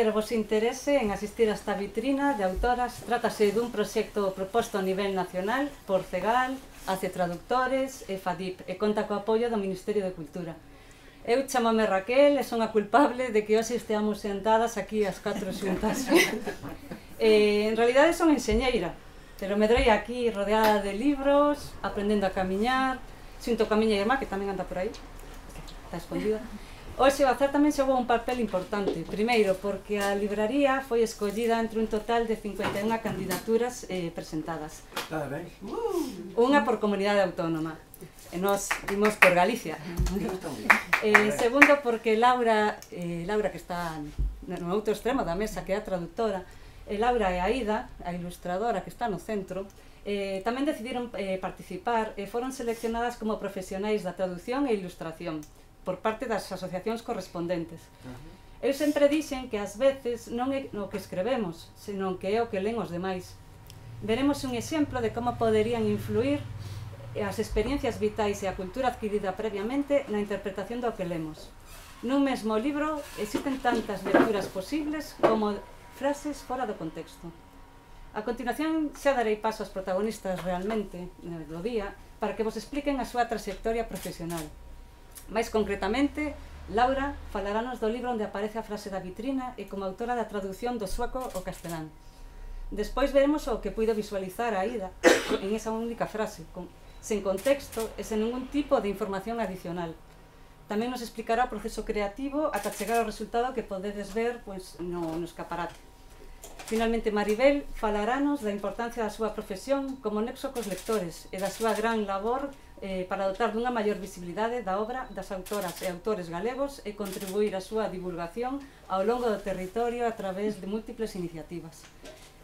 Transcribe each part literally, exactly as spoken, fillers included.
agradecer o vosso interese en asistir a esta vitrina de autoras. Trátase dun proxecto proposto a nivel nacional por CEGAL, ACE Traductores e FADIP e conta co apoio do Ministerio de Cultura. Eu chamame Raquel e son a culpable de que hoxe esteamos sentadas aquí as catro xuntas. eh, en realidade son enxeñeira, pero medrei aquí rodeada de libros, aprendendo a camiñar, xunto coa miña irmá que tamén anda por aí, está escondida. Hoxe o azar tamén xogou un papel importante. Primeiro, porque a libraría foi escollida entre un total de cincuenta e unha candidaturas eh, presentadas. Unha por comunidade autónoma. E nós vimos por Galicia. eh, segundo, porque Laura, eh, Laura que está no outro extremo da mesa, que é a traductora, e Laura e Aida, a ilustradora que está no centro, eh, tamén decidiron eh, participar e foron seleccionadas como profesionais da traducción e ilustración por parte das asociacións correspondentes. Eu sempre dixen que ás veces non é o que escrevemos, senón que é o que len os demais. Veremos un exemplo de como poderían influir as experiencias vitais e a cultura adquirida previamente na interpretación do que lemos. Nun mesmo libro existen tantas lecturas posibles como frases fora do contexto. A continuación xa darei paso aos protagonistas realmente do día para que vos expliquen a súa trayectoria profesional. Mais concretamente, Laura falarános do libro onde aparece a frase da vitrina e como autora da traducción do sueco ao castelán. Despois veremos o que puido visualizar a Aida en esa única frase, con, sen contexto e sen ningún tipo de información adicional. Tamén nos explicará o proceso creativo ata chegar ao resultado que podedes ver pois, no, no escaparate. Finalmente, Maribel falarános da importancia da súa profesión como nexo cos lectores e da súa gran labor eh, para dotar dunha maior visibilidade da obra das autoras e autores galegos e contribuir á súa divulgación ao longo do territorio a través de múltiples iniciativas.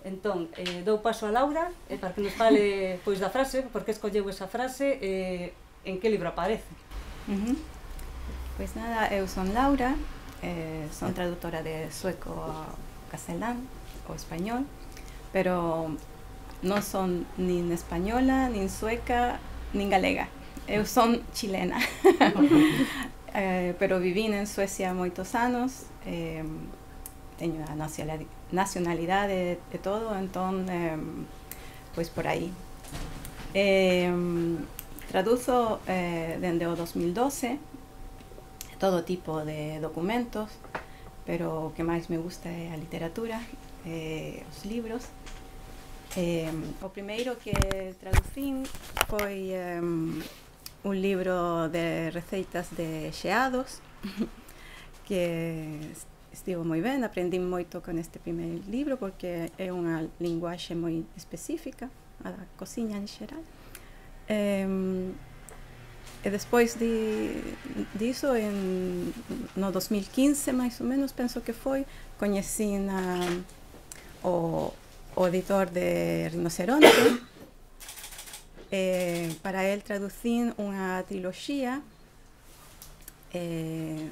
Entón, eh, dou paso a Laura eh, para que nos fale pois, da frase, porque escolleu esa frase e eh, en que libro aparece. Uh-huh. Pois nada, eu son Laura, eh, son traductora de sueco a castelán o español, pero non son nin española, nin sueca, nin galega. Eu son chilena, eh, pero vivín en Suecia moitos anos, eh, teño a nacionalidade e todo, entón, eh, pois por aí. Eh, traduzo eh, dende o dos mil doce todo tipo de documentos, pero o que máis me gusta é a literatura, eh, os libros. Eh, o primeiro que traducín foi eh, un libro de receitas de xeados que estivo moi ben, aprendín moito con este primeiro libro porque é unha linguaxe moi específica a da cociña en xeral. Eh, e despois di, diso, en, no dos mil quince, máis ou menos, penso que foi, coñecín a, o o editor de Rinoceronte. Eh, para él traducín unha triloxía eh,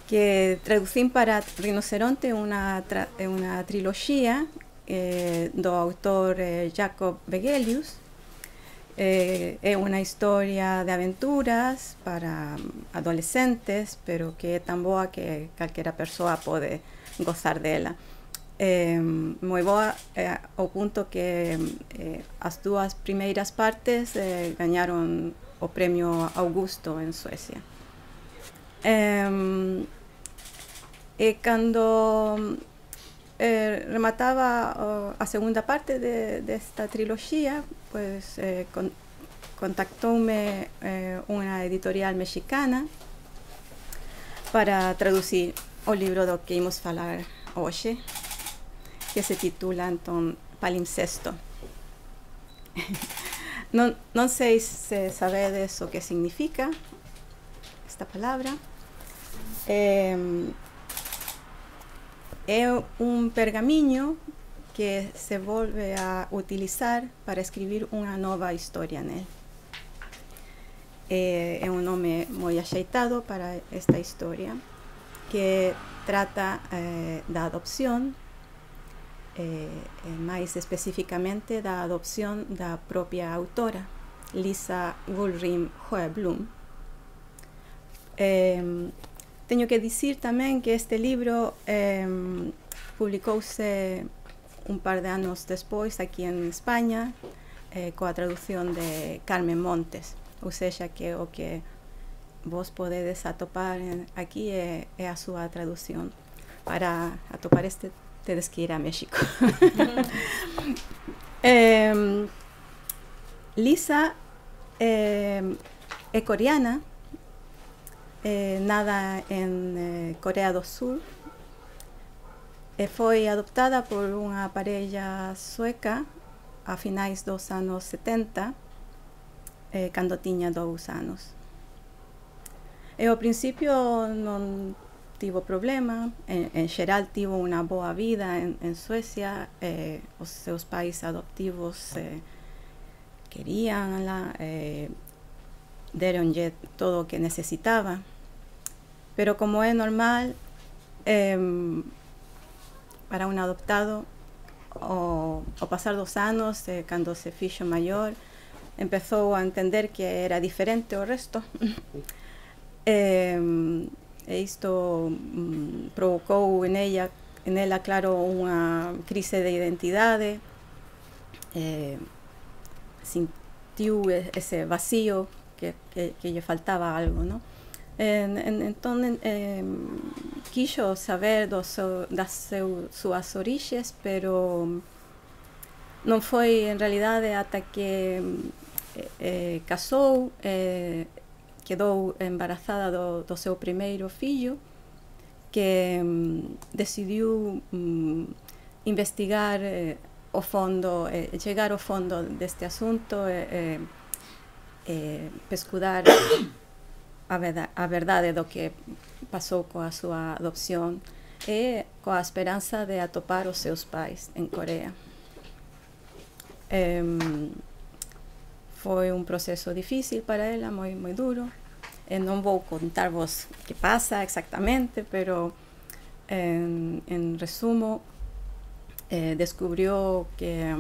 que traducín para Rinoceronte unha, tra, unha triloxía eh, do autor eh, Jacob Vegelius. Eh, é unha historia de aventuras para adolescentes, pero que é tan boa que calquera persoa pode gozar dela. Eh, moi boa eh, ao punto que eh, as dúas primeiras partes eh, gañaron o premio Augusto en Suecia. Eh, e cando eh, remataba oh, a segunda parte de, desta triloxía, pues, eh, con, contactoume eh, unha editorial mexicana para traducir o libro do que imos falar hoxe, que se titula entón Palimpsesto. non, non sei se sabedes o que significa esta palabra. Eh, é un pergamiño que se volve a utilizar para escribir unha nova historia nel. Eh, é un nome moi axeitado para esta historia, que trata eh, da adopción, eh, eh, máis especificamente da adopción da propia autora, Lisa Gullrim Sjöblom. Eh, tengo que decir también que este libro eh, publicóse un par de años después aquí en España, eh, con la traducción de Carmen Montes. O sea que o que vos podedes atopar en, aquí é, é a súa traducción. Para atopar este, tedes que ir a México. eh, Lisa eh, é coreana, eh, nada en eh, Corea do Sur, e foi adoptada por unha parella sueca a finais dos anos setenta, eh, cando tiña dous anos. E ao principio non tivo problema, en, en xeral tivo unha boa vida en, en Suecia, eh, os seus pais adoptivos eh, queríanla, eh, deronlle todo o que necesitaba, pero como é normal, eh, para un adoptado, o, o pasar dos anos, eh, cando se fixo maior, empezou a entender que era diferente ao resto. eh, e isto mm, provocou en ella, en ela, claro, unha crise de identidade, eh, sentiu ese vacío que, que, que lle faltaba algo, ¿no? En, en, entón, eh, quixo saber do seu, das seu, súas orixes, pero non foi en realidade ata que eh, eh, casou, eh, quedou embarazada do, do seu primeiro fillo, que mm, decidiu mm, investigar eh, o fondo, eh, chegar ao fondo deste asunto, e eh, eh, pescudar a verdade, a verdade do que pasou coa súa adopción e coa esperanza de atopar os seus pais en Corea. Eh, foi un proceso difícil para ela, moi, moi duro. E non vou contarvos que pasa exactamente, pero en, en resumo, eh, descubrió que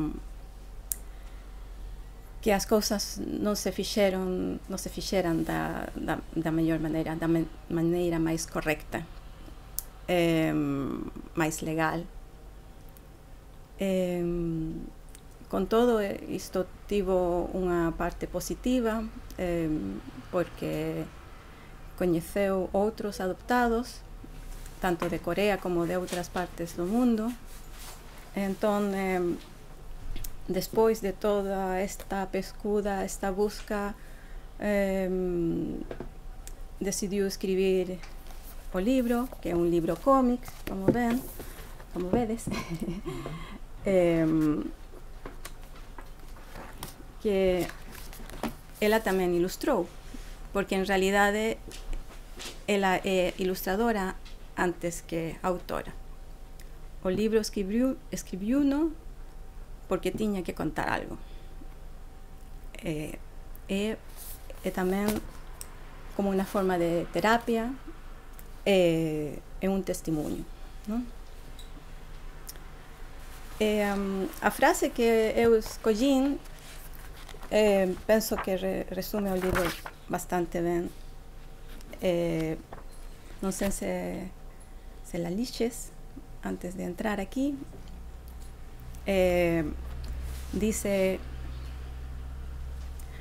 que as cousas non se fixeron, non se fixeran da, da, da mellor maneira, da me, maneira máis correcta, eh, máis legal. Eh, con todo, isto tivo unha parte positiva, eh, porque coñeceu outros adoptados, tanto de Corea como de outras partes do mundo. Entón, eh, despois de toda esta pescuda, esta busca, eh, decidiu escribir o libro, que é un libro cómic, como ven, como vedes, eh, que ela tamén ilustrou, porque en realidade ela é ilustradora antes que autora. O libro escribiu, escribiuno porque tiña que contar algo. Eh, e, e tamén como unha forma de terapia, e, e un testimonio, non? E, um, a frase que eu escollín, eh, penso que re, resume o libro bastante ben. Eh, non sei se, se la lixes antes de entrar aquí. Eh, dice: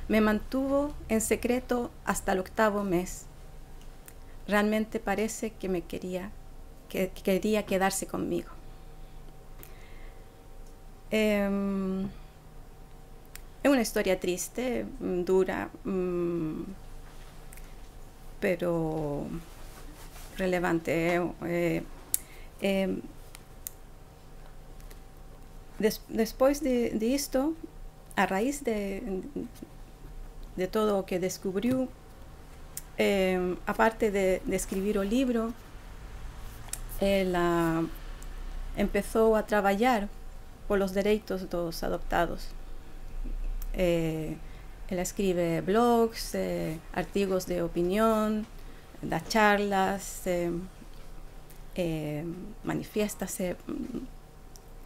me mantuvo en secreto hasta el octavo mes. Realmente parece que me quería, que, que quería quedarse conmigo. Eh, es una historia triste, dura, mmm, pero relevante. Eh, eh, Des, despois de, de isto, a raíz de, de todo o que descubriu, eh, aparte de, de escribir o libro, ela empezou a traballar polos dereitos dos adoptados. Eh, ela escribe blogs, eh, artigos de opinión, da charlas, eh, eh, manifiéstase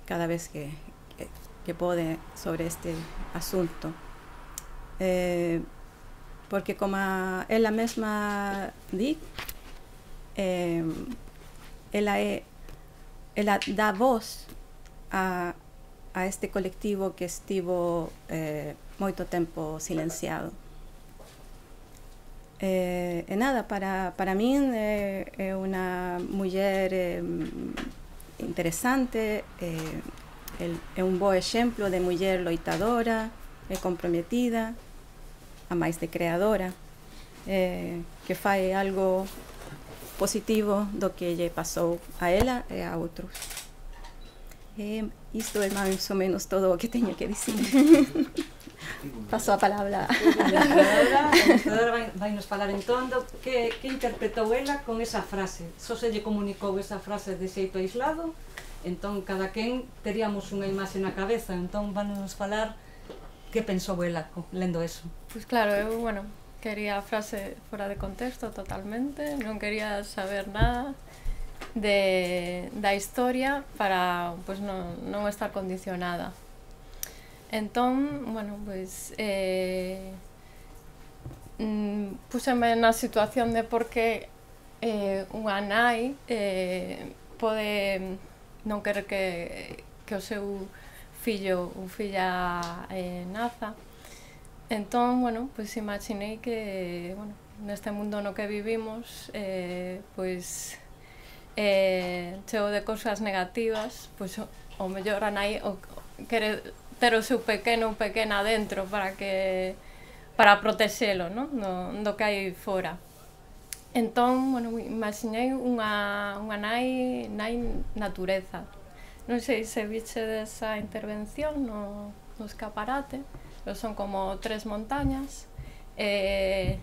cada vez que, que, que pode sobre este asunto. Eh, porque como ela mesma di, eh, ela, é, ela dá voz a, a este colectivo que estivo eh, moito tempo silenciado. Eh, e nada, para, para min é, é unha muller eh, interesante, eh, é un bo exemplo de muller loitadora e comprometida, a máis de creadora, eh, que fai algo positivo do que lle pasou a ela e a outros. E isto é máis ou menos todo o que teño que dicir. Paso a palabra. A ilustradora, a ilustradora vai, vai nos falar entón do que, que interpretou ela con esa frase. Só se lle comunicou esa frase de xeito aislado, entón cada quen teríamos unha imaxe na cabeza, entón van nos falar que pensou ela lendo eso. Pois claro, eu, bueno, quería a frase fora de contexto totalmente, non quería saber nada de, da historia para pues, non, non estar condicionada. Entón, bueno, pois eh, mm, puseme na situación de por que eh, unha nai eh, pode non querer que, que o seu fillo ou filla eh, naza. Entón, bueno, pois imaginei que, bueno, neste mundo no que vivimos, eh, pois eh, cheo de cousas negativas, pois o, o mellor a nai o, quere ter o seu pequeno ou pequena dentro para que para protexelo, non? Do, do que hai fora. Entón, bueno, imaginei unha, unha nai, nai natureza. Non sei se viche desa intervención no, no escaparate, pero son como tres montañas, e,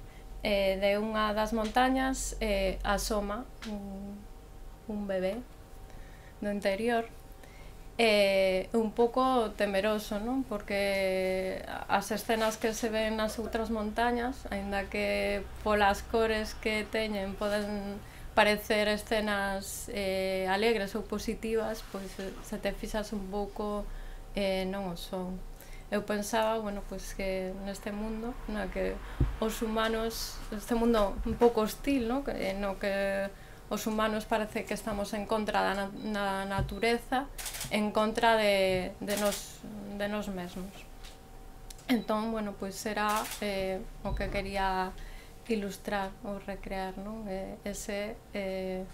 e de unha das montañas eh, asoma un, un bebé do interior, é un pouco temeroso, non? Porque as escenas que se ven nas outras montañas, aínda que polas cores que teñen poden parecer escenas eh, alegres ou positivas, pois se te fixas un pouco eh, non o son. Eu pensaba, bueno, pois que neste mundo, no que os humanos, este mundo un pouco hostil, no? Que, no que os humanos parece que estamos en contra da na, na natureza, en contra de, de, nos, de nos mesmos. Entón, bueno, pois era eh, o que quería ilustrar ou recrear, non? Eh, ese eh,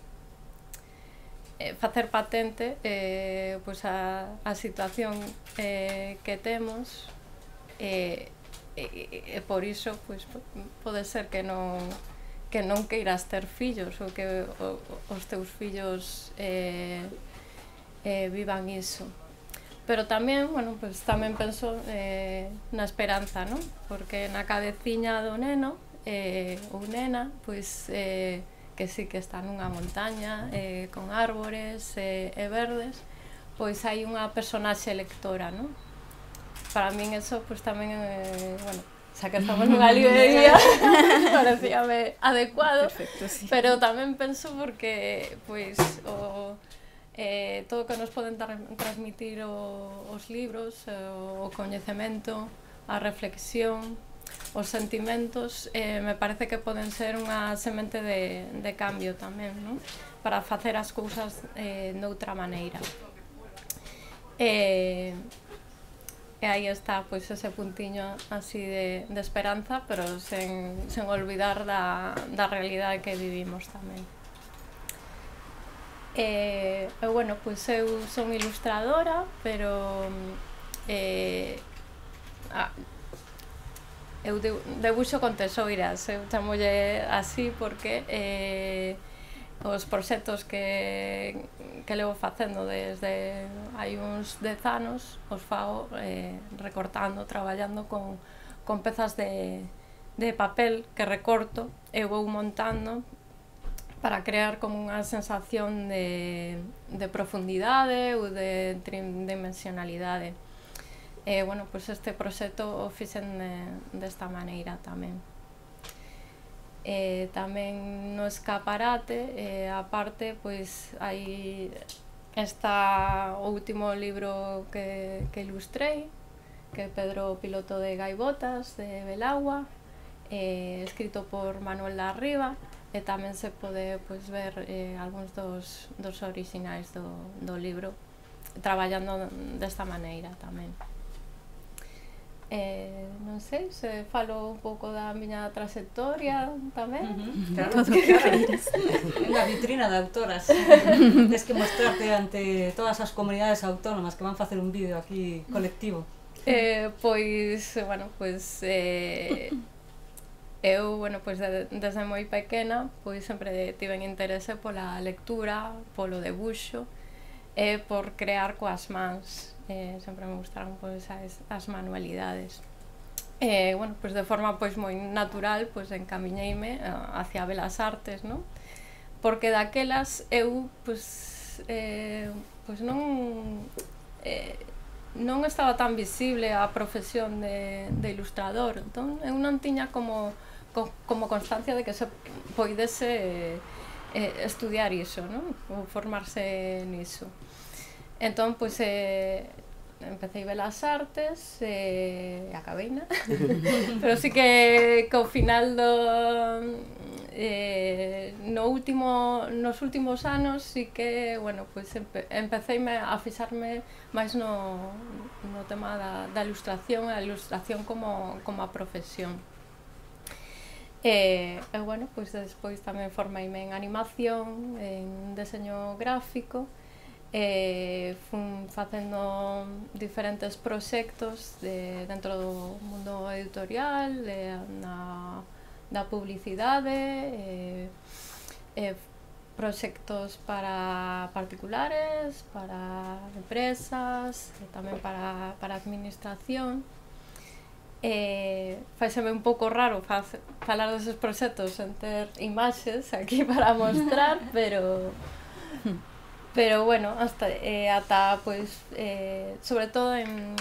eh, facer patente eh, pois a, a situación eh, que temos, e eh, eh, por iso pois, pode ser que non que non queiras ter fillos ou que o, os teus fillos eh, eh, vivan iso. Pero tamén, bueno, pues tamén penso eh, na esperanza, non? Porque na cabeciña do neno eh, ou nena, pois eh, que sí que está nunha montaña eh, con árbores eh, e verdes, pois hai unha personaxe lectora, non? Para min eso, pois tamén, eh, bueno, xa que estamos nunha librería, parecíame adecuado. Perfecto, sí. Pero tamén penso porque, pois, o... Eh, todo o que nos poden tra transmitir o, os libros, eh, o coñecemento, a reflexión, os sentimentos, eh, me parece que poden ser unha semente de, de cambio tamén, non? Para facer as cousas eh, noutra maneira. E, e aí está, pois, ese puntiño así de, de esperanza, pero sen, sen olvidar da, da realidade que vivimos tamén. Eh, e, bueno, pois eu son ilustradora, pero eh, ah, eu debuxo con tesoiras, eu chamolle así porque eh, os proxectos que, que levo facendo desde hai uns dez anos os fago eh, recortando, traballando con, con pezas de, de papel que recorto e vou montando para crear como unha sensación de, de profundidade ou de tridimensionalidade. E, bueno, pois este proxecto o fixen de, desta maneira tamén. E, tamén no escaparate, e, aparte, pois hai esta o último libro que, que ilustrei, que é Pedro Piloto de Gaivotas, de Belagua, eh, escrito por Manuel da Riva, e tamén se pode pois, ver eh, algúns dos, dos orixinais do, do libro traballando desta maneira tamén. Eh, non sei, se falo un pouco da miña trayectoria tamén. Uh-huh. Claro, claro. Unha vitrina de autoras. Tens que mostrarte ante todas as comunidades autónomas que van facer un vídeo aquí colectivo. Eh, pois, bueno, pois eh, eu, bueno, pois de, desde moi pequena, pois sempre tiven interese pola lectura, polo debuxo e por crear coas mans. Eh, sempre me gustaron pois as, as manualidades. Eh, bueno, pois de forma pois moi natural, pois encamiñeime hacia Belas Artes, non? Porque daquelas eu pois eh, pois non eh, non estaba tan visible a profesión de, de ilustrador, entón eu non tiña como co, como constancia de que se poidese eh, estudiar iso, non? Ou formarse niso. Entón, pois, eh, empecé Belas Artes e eh, acabeina, pero sí que co final do... Eh, no último, nos últimos anos sí que, bueno, pois empe, empeceime a fixarme máis no, no tema da, da ilustración, a ilustración como, como a profesión. E, e, bueno, pois despois tamén formeime en animación, en deseño gráfico, e fun facendo diferentes proxectos de, dentro do mundo editorial, de, na, da publicidade, e, e proxectos para particulares, para empresas, e tamén para, para administración. E faiseme un pouco raro falar deses proxectos sen ter imaxes aquí para mostrar, pero pero bueno, hasta eh, ata pois eh, sobre todo en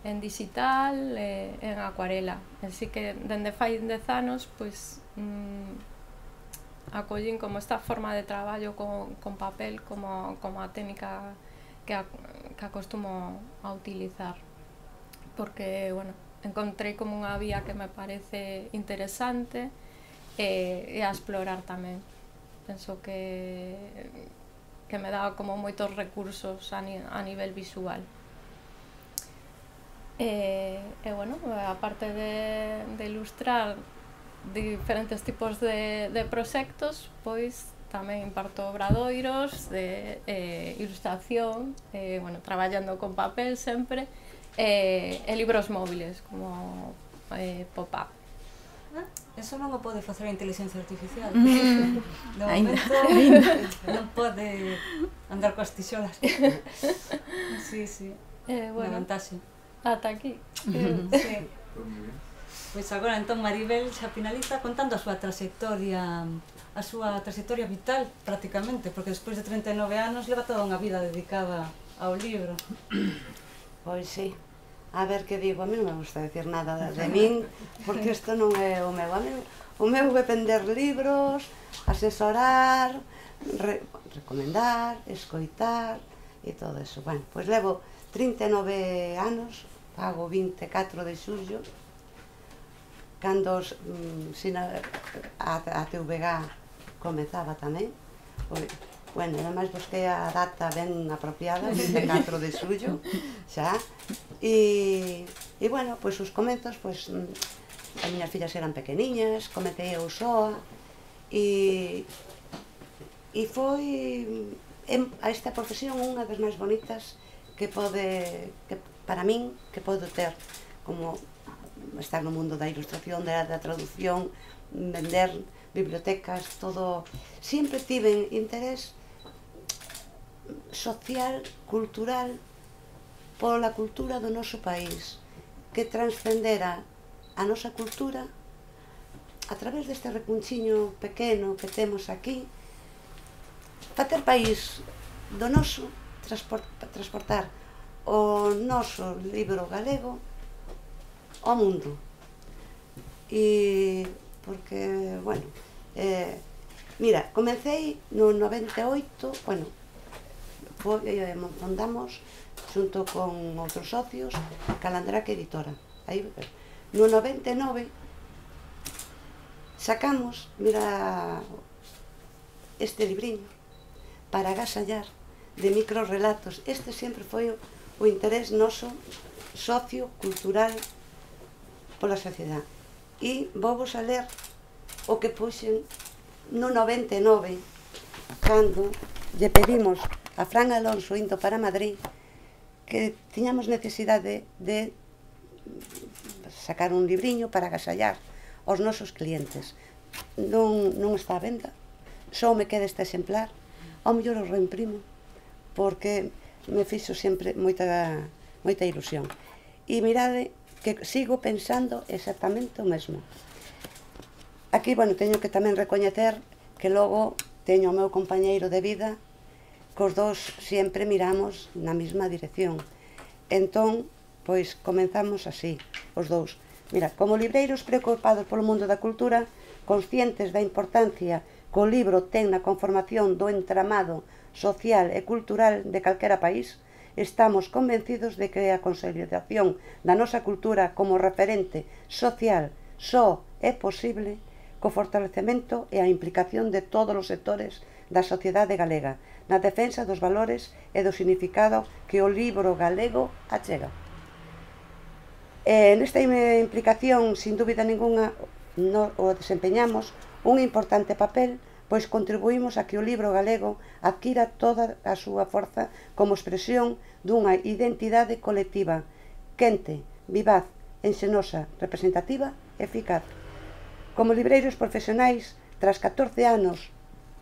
en digital, eh, en acuarela. Así que dende fai dez anos pois mm, acollín como esta forma de traballo con, con papel como, como a técnica que, a, que acostumo a utilizar, porque, bueno, encontrei como unha vía que me parece interesante e, e a explorar tamén. Penso que que me dá como moitos recursos a, ni, a nivel visual. E, e bueno, aparte de, de ilustrar diferentes tipos de, de proxectos, pois tamén imparto obradoiros de eh, ilustración, eh, bueno, traballando con papel sempre, e, e libros móviles como eh, pop-up. Ah, eso non o pode facer a inteligencia artificial. Mm. De momento non pode andar coas tixolas. Sí, sí. Eh, bueno, Unha vantaxe. ata aquí. Sí. Pois agora entón Maribel xa finaliza contando a súa trayectoria, a súa trayectoria vital prácticamente, porque despois de trinta e nove anos leva toda unha vida dedicada ao libro. Pois sí. A ver que digo, a mí non me gusta decir nada de, de min, porque isto non é o meu. A mí, o meu é vender libros, asesorar, re, recomendar, escoitar e todo eso. Bueno, pois levo trinta e nove anos, pago vinte e catro de xullo, cando mm, sina, a, a T V G comezaba tamén. Pois, bueno, ademais busquei a data ben apropiada, vinte e catro de xullo, xa. E, e bueno, pois os comezos, pois as miñas fillas eran pequeniñas, comecei eu soa, e, e foi a esta profesión unha das máis bonitas que pode, que para min, que podo ter, como estar no mundo da ilustración, da, da traducción, vender bibliotecas, todo. Sempre tiven interés social, cultural, pola cultura do noso país, que transcendera a nosa cultura a través deste recunchiño pequeno que temos aquí, facer país do noso, transportar o noso libro galego ao mundo. E porque, bueno, eh, mira, comecei no noventa e oito, bueno, foi, eh, fundamos xunto con outros socios Calandraque Editora. Aí, no noventa e nove sacamos, mira, este libriño para agasallar de microrelatos. Este sempre foi o interés noso sociocultural pola sociedade. E vou vos a ler o que puxen no noventa e nove, cando lle pedimos a Fran Alonso indo para Madrid que tiñamos necesidade de sacar un libriño para agasallar aos nosos clientes. Non, non está a venda, só me queda este exemplar, ao mellor o reimprimo, porque me fixo sempre moita, moita ilusión. E mirade que sigo pensando exactamente o mesmo. Aquí, bueno, teño que tamén recoñecer que logo teño o meu compañeiro de vida, que os dous sempre miramos na mesma dirección. Entón, pois, comenzamos así, os dous. Mira, como libreiros preocupados polo mundo da cultura, conscientes da importancia que o libro ten na conformación do entramado social e cultural de calquera país, estamos convencidos de que a consolidación da nosa cultura como referente social só é posible co fortalecemento e a implicación de todos os sectores da sociedade galega na defensa dos valores e do significado que o libro galego achega. E nesta implicación, sin dúbida ninguna, no, o desempeñamos un importante papel, pois contribuímos a que o libro galego adquira toda a súa forza como expresión dunha identidade colectiva, quente, vivaz, enxenosa, representativa e eficaz. Como libreiros profesionais, tras catorce anos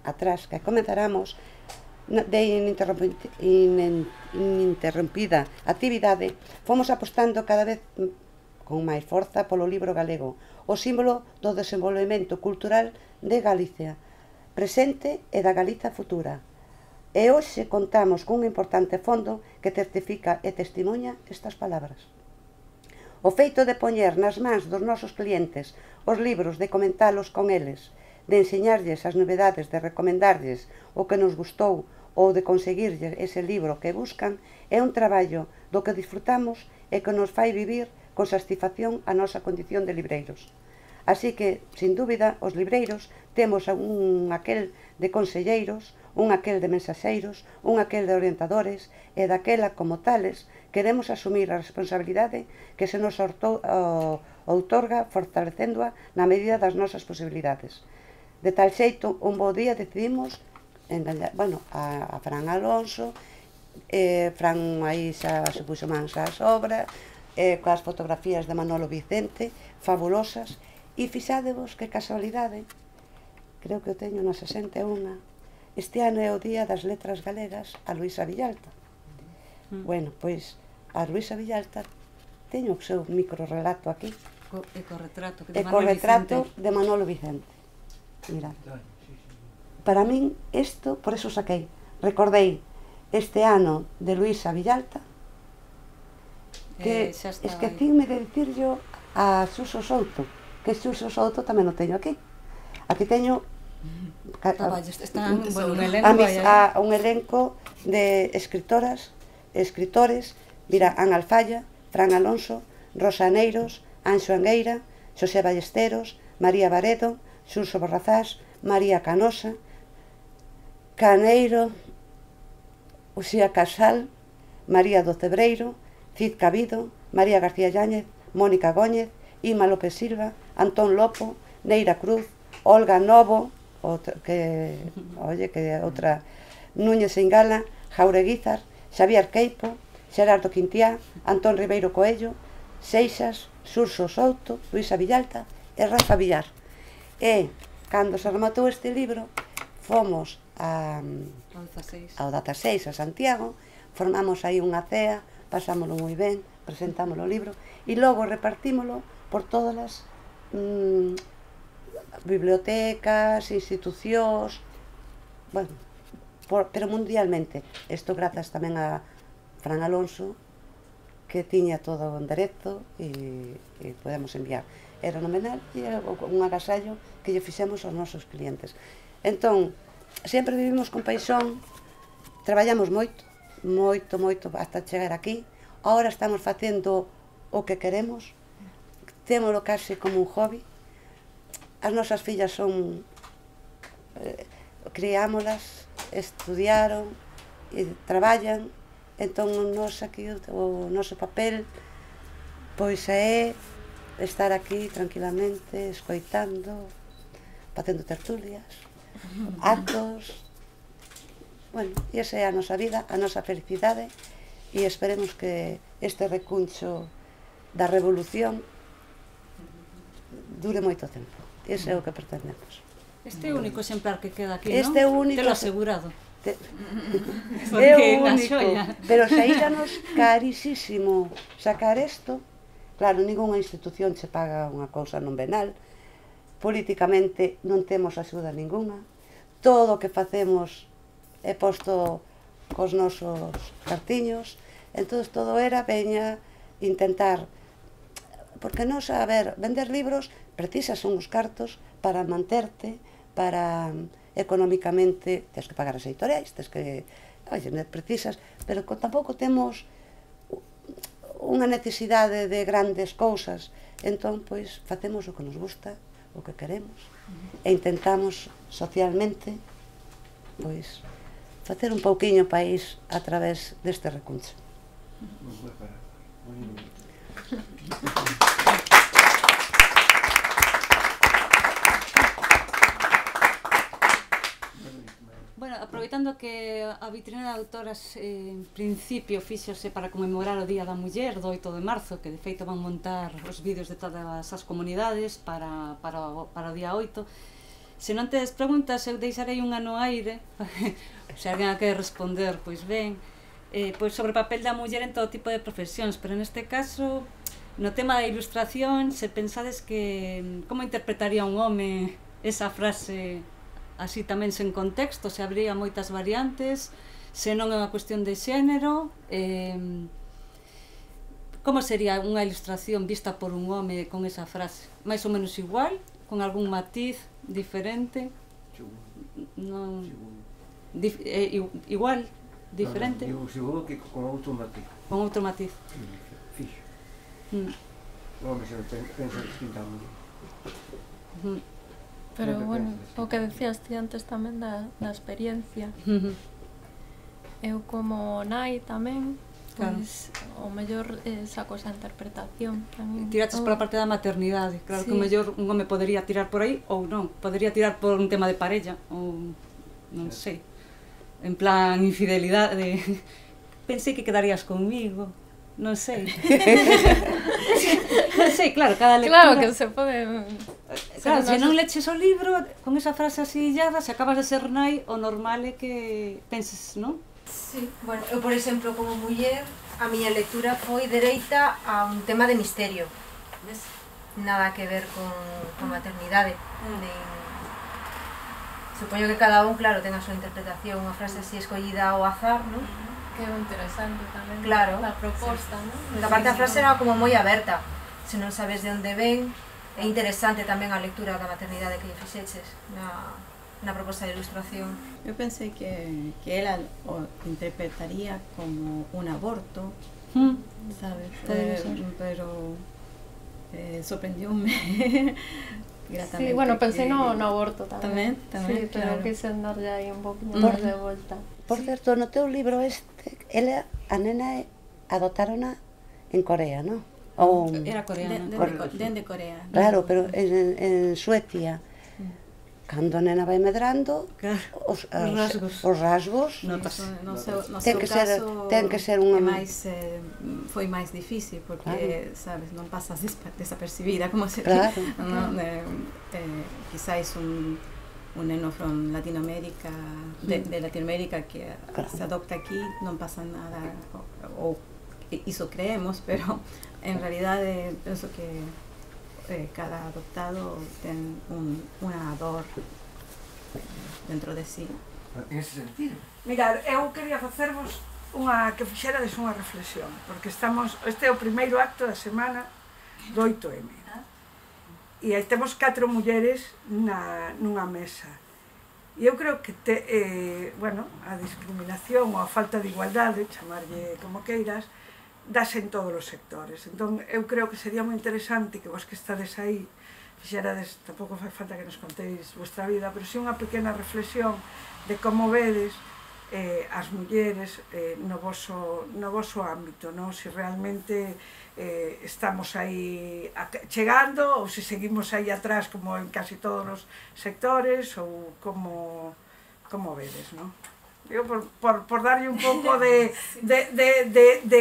atrás que comenzáramos de ininterrompida actividade, fomos apostando cada vez con máis forza polo libro galego, o símbolo do desenvolvemento cultural de Galicia presente e da Galiza futura. E hoxe contamos cun importante fondo que certifica e testimonia estas palabras. O feito de poñer nas mans dos nosos clientes os libros, de comentalos con eles, de enseñarlles as novedades, de recomendarlles o que nos gustou ou de conseguirlles ese libro que buscan, é un traballo do que disfrutamos e que nos fai vivir con satisfacción a nosa condición de libreiros. Así que, sin dúbida, os libreiros temos un aquel de conselleiros, un aquel de mensaxeiros, un aquel de orientadores, e daquela, como tales, queremos asumir a responsabilidade que se nos outorga, fortalecéndoa na medida das nosas posibilidades. De tal xeito, un bo día decidimos engañar, bueno, a, a Fran Alonso, eh, Fran aí xa se puxo mans ás obras, eh, coas fotografías de Manolo Vicente, fabulosas, e fixádevos que casualidade, creo que o teño na sesenta e unha, este ano é o Día das Letras Galegas a Luisa Villalta. Mm. Bueno, pois, a Luisa Villalta teño o seu microrelato aquí. Ecorretrato de Ecorretrato de Manolo Vicente. Mirad. Para min, isto, por eso saquei, recordei este ano de Luisa Villalta, que eh, esquecíme de dicirlo a Suso Souto, que Suso Souto tamén o teño aquí. Aquí teño a, a, están, bueno, un, elenco, a, mis, a un elenco de escritoras, escritores, mira, Ana Alfaya, Fran Alonso, Rosa Aneiros, Anxo Angueira, Xosé Ballesteros, María Baredo, Xurxo Borrazás, María Canosa, Caneiro, Uxía Casal, María do Cebreiro, Cid Cabido, María García Yáñez, Mónica Góñez, Ima López Silva, Antón Lopo, Neira Cruz, Olga Novo, outra, que, oye, que outra, Núñez Engala, Jaureguizar, Xavier Queipo, Xerardo Quintiá, Antón Ribeiro Coello, Seixas, Xurxo Souto, Luisa Villalta e Rafa Villar. E, cando se rematou este libro, fomos a, ao dezasseis a Santiago, formamos aí unha cea, pasámoslo moi ben, presentámoslo o libro e logo repartímoslo por todas as mm, bibliotecas, institucións, bueno, por, pero mundialmente. Isto grazas tamén a Fran Alonso, que tiña todo o enderezo e, e podemos enviar. Era nomenal e era un agasallo que lle fixemos aos nosos clientes. Entón, sempre vivimos con paixón, traballamos moito, moito, moito, hasta chegar aquí. Ahora estamos facendo o que queremos, témolo case como un hobby. as nosas fillas son eh, criámolas, estudiaron e traballan, entón nos aquí o, o noso papel pois é estar aquí tranquilamente escoitando, facendo tertulias, actos. Bueno, e esa é a nosa vida, a nosa felicidade, e esperemos que este recuncho da revolución dure moito tempo. Ese é o que pretendemos. Este é o único exemplar que queda aquí, Este é o non? único... Te lo asegurado. Te... Porque é o unha único, xoia. pero saíranos carísimo sacar isto. Claro, ninguna institución se paga unha cousa non venal, políticamente non temos axuda ninguna, todo o que facemos é posto cos nosos cartiños, entón todo era veña intentar, porque non saber vender libros precisas son os cartos para manterte, para económicamente, tens que pagar as editoriais, tens que, oye, precisas, pero tampouco temos unha necesidade de grandes cousas, entón, pois, facemos o que nos gusta, o que queremos, e intentamos socialmente, pois, facer un pouquiño país a través deste recuncho. Bueno, aproveitando que a vitrina de autoras eh, en principio fíxose para conmemorar o Día da Muller do oito de marzo, que de feito van montar os vídeos de todas as comunidades para, para, para o día oito. Se non tedes preguntas, eu deixarei unha no aire, se alguén a quere responder, pois ben, eh, pois sobre o papel da muller en todo tipo de profesións, pero neste caso, no tema da ilustración, se pensades que como interpretaría un home esa frase así tamén sen contexto, se habría moitas variantes, se non é unha cuestión de xénero, eh, como sería unha ilustración vista por un home con esa frase? Mais ou menos igual? Con algún matiz diferente? Non... Dif eh, igual? Diferente? Digo, seguro que con outro matiz. Con outro matiz. Fixo. Mm. O home se pensa distintamente. Mm. Pero, bueno, o que decías ti antes tamén da, da experiencia. Mm-hmm. Eu como nai tamén, Claro. pois, o mellor eh, saco esa interpretación tamén. Tiraches pola parte da maternidade, claro, Sí. que o mellor un home podería tirar por aí ou non, podería tirar por un tema de parella ou non sei, en plan infidelidade, pensei que quedarías conmigo, non sei. Non sei, claro, cada lectura... Claro que se pode... Claro, se non leches o libro con esa frase así illada, se acabas de ser nai, o normal é que penses, non? Sí, bueno, eu, por exemplo, como muller, a miña lectura foi dereita a un tema de misterio. Ves? Nada que ver con, con maternidade. Nen... Supoño que cada un, claro, ten a súa interpretación, unha frase así escollida ao azar, non? Que é interesante tamén. Claro. A proposta, Sí. non? A parte da frase era como moi aberta. Se non sabes de onde ven, é interesante tamén a lectura da maternidade que fixeches na, na proposta de ilustración. Yo pensé que, que él al- o interpretaría como un aborto, Mm. ¿sabes? Podría Eh, ser. pero eh, sorprendióme gratamente. Sí, bueno, pensei que- no, no aborto tamén. Tamén, tamén, Sí, pero claro. quise andarlle aí un poquinho Por- máis de volta. Por certo, no teu libro este, ela, a nena, adoptarona en Corea, non? Ou... Era De- coreana. de- Cor- de Co- Dende Corea. Claro, pero en, en Suecia, cando a nena vai medrando, Claro, os, os as- rasgos. os rasgos Notas. No, no seu, no Ten seu que ser- caso ten que ser é unha- máis, eh, foi máis difícil porque, Claro. sabes, non pasas despa- desapercibida como se Claro. no, eh, eh, quizáis un un neno from Latinoamérica, de, de Latinoamérica que Claro. se adopta aquí, non pasa nada, o, o iso creemos, pero en realidade penso que eh, cada adoptado ten un, unha dor dentro de sí. En ese sentido. Mirad, eu quería facervos unha que fixerades unha reflexión, porque estamos, este é o primeiro acto da semana do oito eme. E aí temos catro mulleres na, nunha mesa. E eu creo que, te, eh, bueno, a discriminación ou a falta de igualdade, chamarlle como queiras, dase en todos os sectores. Entón, eu creo que sería moi interesante que vos que estades aí fixerades, tampouco fai falta que nos contéis vuestra vida, pero si unha pequena reflexión de como vedes eh, as mulleres eh, no, voso, no voso ámbito, no? Si realmente eh, estamos aí chegando ou se seguimos aí atrás como en casi todos os sectores ou como, como vedes, no? Eu por, por, por darlle un pouco de, de, de, de, de,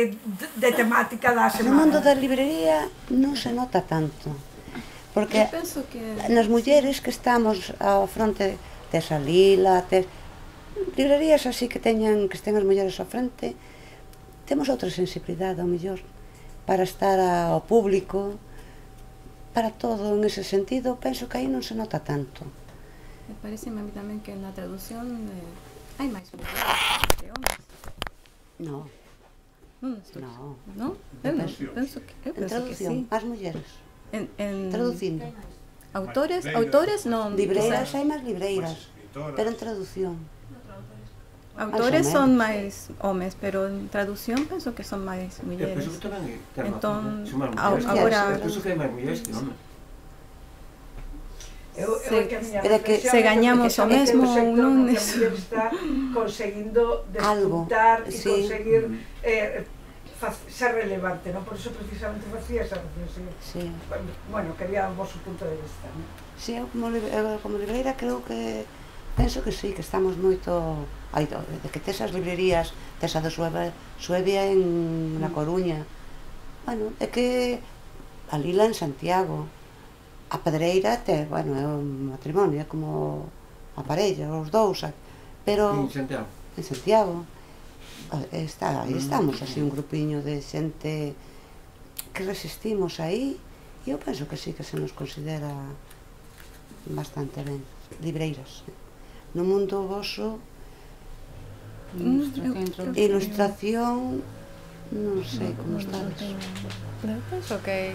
de temática da semana. No mundo da librería non se nota tanto, porque que... nas mulleres que estamos ao fronte desa Lila, tes, librerías así que teñan que estén as mulleres ao frente, temos outra sensibilidade ao mellor para estar ao público, para todo en ese sentido, penso que aí non se nota tanto. Me parece a mí tamén que na traducción eh, hai máis mulleres que homes. No. Non estou. No. No? Eu non, penso que, eu En penso que traducción, sí. as mulleres. En, en Traducindo. autores, autores non. Libreiras, hai máis libreiras, pero en traducción. Autores Máis ou son menos. máis homes, pero en traducción penso que son máis Eu mulleres. penso que tamén é Entón, son máis a- mulleres. agora- Eu penso que hai máis mulleres que homes. Eu, eu é que a miña Pero é que reflexión se é que- gañamos é que o mesmo é un sector ou non, no que a eso. muller está conseguindo Algo, despuntar e sí. conseguir eh, faz- ser relevante, non? Por iso precisamente facía esa reflexión. Sí. Bueno, quería o vosso punto de vista, non? Sí, eu como, libre, eu como libreira creo que penso que sí, que estamos moito ai, do- de que tes as librerías, tes a do Sueve, Suevia en na Coruña. Bueno, é que a Lila en Santiago, a Pedreira te, bueno, é un matrimonio, é como a parella, os dous, a- pero En Santiago. en Santiago eh, está, aí estamos así un grupiño de xente que resistimos aí e eu penso que sí que se nos considera bastante ben libreiras. No mundo voso Mm, eu- ilustración non sei como estades. Eu penso que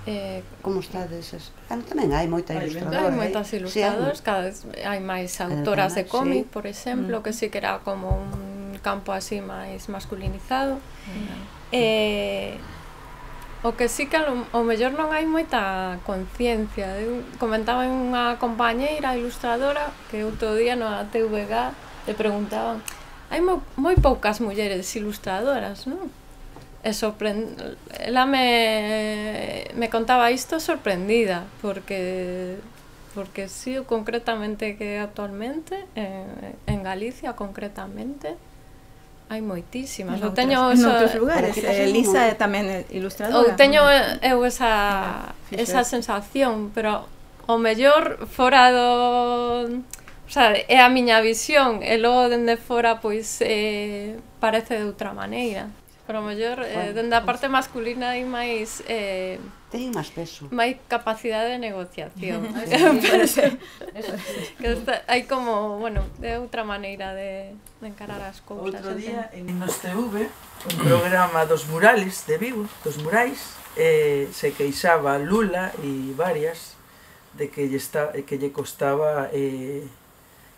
eh, Como estades? es- Ah, tamén hai moita Hai ilustradora. hai moitas Sí, hai ilustradoras, mo- cada vez hai máis Cada autoras de vez máis, cómic, sí. por exemplo, que sí que era como un campo así máis masculinizado. Eh, o que sí que ao, ao mellor non hai moita conciencia. Eu comentaba en unha compañeira ilustradora que outro día no A T V G le preguntaban: hai mo, moi poucas mulleres ilustradoras, non? E sorprend... ela me, me contaba isto sorprendida, porque porque sí, concretamente que actualmente en, en Galicia concretamente hai moitísimas. Eu teño en esa, outros lugares. Pero que Eh, Elisa pasa é tamén é ilustradora. ou teño eu esa Fixo esa eso. sensación, pero o mellor fora do, o sea, é a miña visión, e logo dende fora pois eh, parece de outra maneira. Pero o mellor eh, Bueno, dende a parte masculina hai máis eh, Teñen máis peso. máis capacidade de negociación. Eso sí. Que está, hai como, bueno, de outra maneira de, de encarar as cousas. Outro día entón. en Nos T V, un programa dos murales de Vigo, dos murais, eh, se queixaba Lula e varias de que lle, está, que lle costaba eh,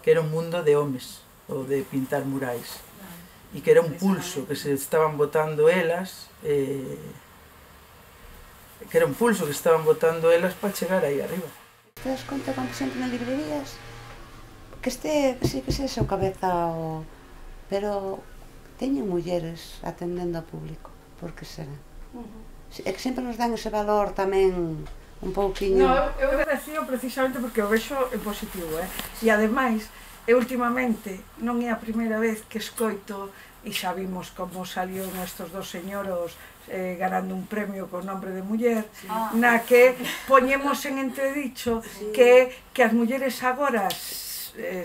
que era un mundo de homes, o de pintar murais, e que era un pulso, que se estaban botando elas, eh, que era un pulso que estaban botando elas para chegar aí arriba. Te das conta cando xente nas librerías que este, que sí, que se o cabeza o... pero teñen mulleres atendendo ao público, por que será? É que sempre nos dan ese valor tamén un pouquiño... No, eu, eu decío precisamente porque o vexo en positivo, eh? E ademais, eu últimamente non é a primeira vez que escoito, e xa vimos como saliu nestos dos señoros eh, ganando un premio con nombre de muller, sí. Na que poñemos en entredicho sí. que, que as mulleres agora eh,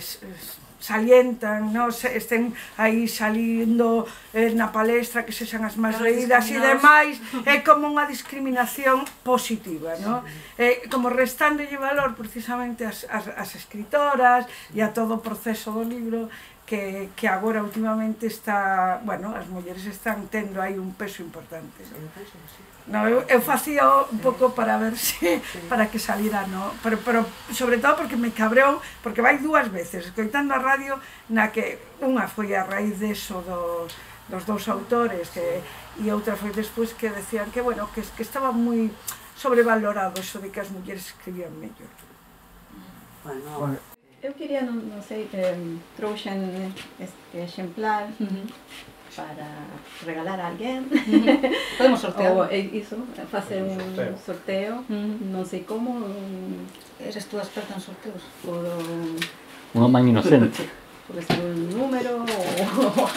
salientan, no, se, estén aí salindo eh, na palestra, que sexan as máis leídas e demais, é como unha discriminación positiva, no? Eh, como restándolle valor precisamente as, as, as escritoras e a todo o proceso do libro que, que agora últimamente está, bueno, as mulleres están tendo aí un peso importante. No, eu, eu facía un pouco para ver se, para que salira, no, pero, pero sobre todo porque me cabreou, porque vai dúas veces, escoitando a radio, na que unha foi a raíz deso dos, dos dous autores, que, e outra foi despois que decían que, bueno, que, que estaba moi sobrevalorado eso de que as mulleres escribían mellor. Bueno, Eu queria, non, non sei, eh, trouxen este exemplar para regalar a alguén. Podemos sortear. Ou eh, iso, facer un sorteo, non sei como. Eres tú a experta en sorteos? Podo, Unha man inocente. pode ser un número ou algo.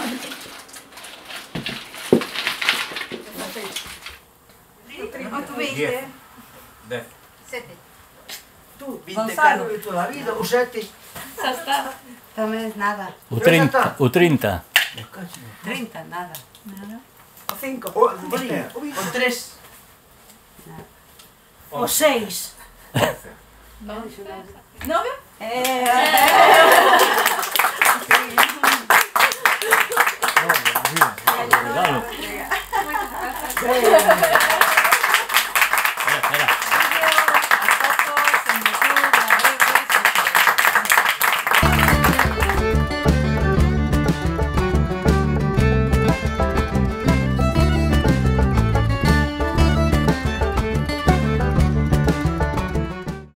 ¿Cuánto veinte? Dez. Sete. Tú, vinte Gonzalo. caro de toda a vida, o sete. tamén nada. O trinta. O trinta. trinta, nada. O cinco. O, espera, o tres. O seis. Nove? Eh, Regalo.